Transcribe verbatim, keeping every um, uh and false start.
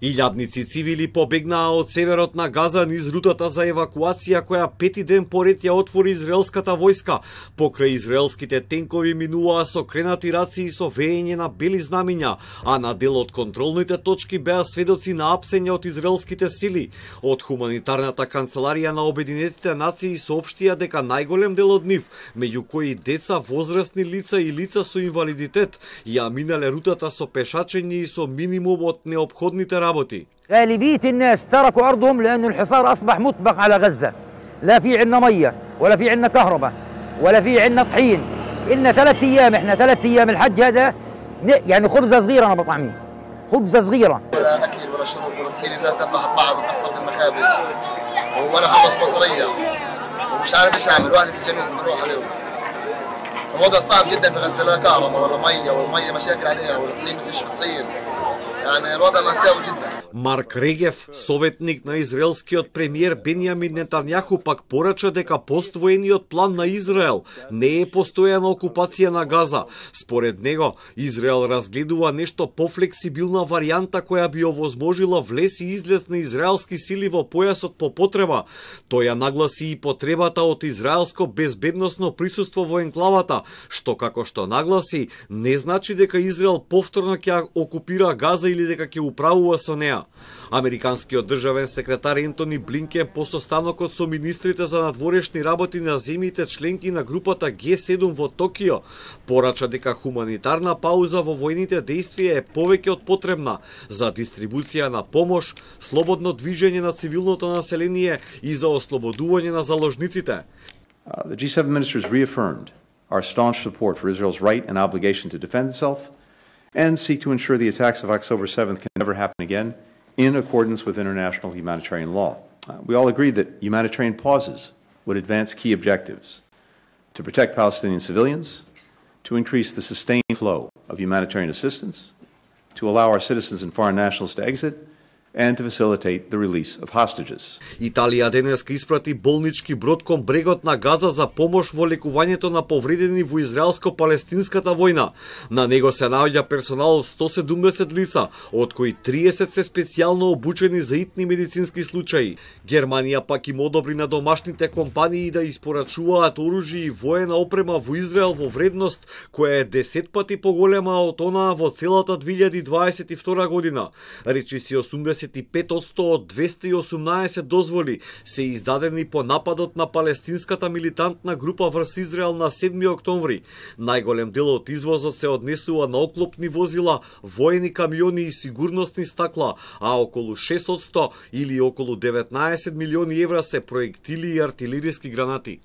Илјадници цивили побегнаа од северот на Газа низ рутата за евакуација која пети ден поред ја отвори израелската војска. Покрај израелските тенкови минуваа со кренати раци и со веење на бели знамиња, а на дел од контролните точки беа сведоци на апсење од израелските сили. Од хуманитарната канцеларија на Обединетите нации соопштија дека најголем дел од нив, меѓу кои деца, возрастни лица и лица со инвалидитет, ја минале рутата со пешачење и со минимум од неопходните работи. غالبية الناس تركوا أرضهم لأن الحصار أصبح مطبق على غزة. لا في عندنا مية ولا في عندنا كهرباء ولا في عندنا طحين. إلنا ثلاث أيام إحنا ثلاث أيام الحج هذا يعني خبزة صغيرة أنا بطعميه. خبزة صغيرة. ولا أكل ولا شرب ولا طحين الناس ذبحت بعض وكسرت المخابز ولا خلص بصرية ومش عارف إيش أعمل واحد في الجنوب بروح عليهم. الوضع صعب جدا في غزة لا كهرباء ولا مية والمية مشاكل عليها والطحين ما فيش طحين. يعني الوضع مأساوي جدا. Марк Регев, советник на израелскиот премиер Бенјамин Нетањаху, пак порача дека поствоениот план на Израел не е постојана окупација на Газа. Според него, Израел разгледува нешто пофлексибилна варијанта која би овозможила влез и излез на израелски сили во појасот по потреба. Тој ја нагласи и потребата од израелско безбедносно присуство во енклавата, што како што нагласи, не значи дека Израел повторно ќе окупира Газа или дека ќе управува со неа. Американскиот државен секретар Ентони Блинкен по состанокот со министрите за надворешни работи на земјите членки на групата Г седум во Токио порача дека хуманитарна пауза во војните действија е повеќе од потребна за дистрибуција на помош, слободно движење на цивилното население и за ослободување на заложниците. Uh, the G seven ministers reaffirmed our staunch support for Israel's right and obligation to defend itself and seek to ensure the attacks of October seventh can never happen again in accordance with international humanitarian law. Uh, we all agree that humanitarian pauses would advance key objectives: to protect Palestinian civilians, to increase the sustained flow of humanitarian assistance, to allow our citizens and foreign nationals to exit, and to facilitate the release of hostages. Италија денеска испрати болнички брод кон брегот на Газа за помош во лекувањето на повредени во израелско-палестинската војна. На него се наоѓа персонал од сто седумдесет лица, од кои триесет се специјално обучени за итни медицински случаи. Германија пак им одобри на домашните компании да испорачуваат оружје и воена опрема во Израел во вредност која е десет пати поголема од онаа во целата две илјади дваесет и втора година. Речиси осумдесет и пет одсто од двесте и осумнаесет дозволи се издадени по нападот на палестинската милитантна група врз Израел на седми октомври. Најголем дел од извозот се однесува на оклопни возила, воени камиони и сигурносни стакла, а околу шест одсто или околу деветнаесет милиони евра се проектили и артилериски гранати.